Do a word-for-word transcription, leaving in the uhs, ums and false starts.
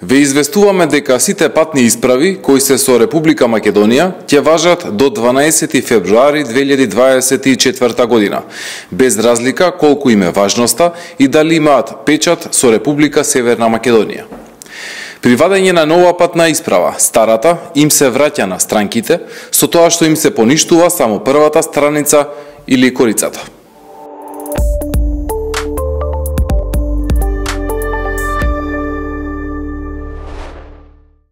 Ве известуваме дека сите патни исправи кои се со Република Македонија ќе важат до дванаесети февруари две илјади дваесет и четврта година, без разлика колку им е важноста и дали имаат печат со Република Северна Македонија. При вадење на нова патна исправа, старата им се враќа на странките, со тоа што им се поништува само првата страница или корицата.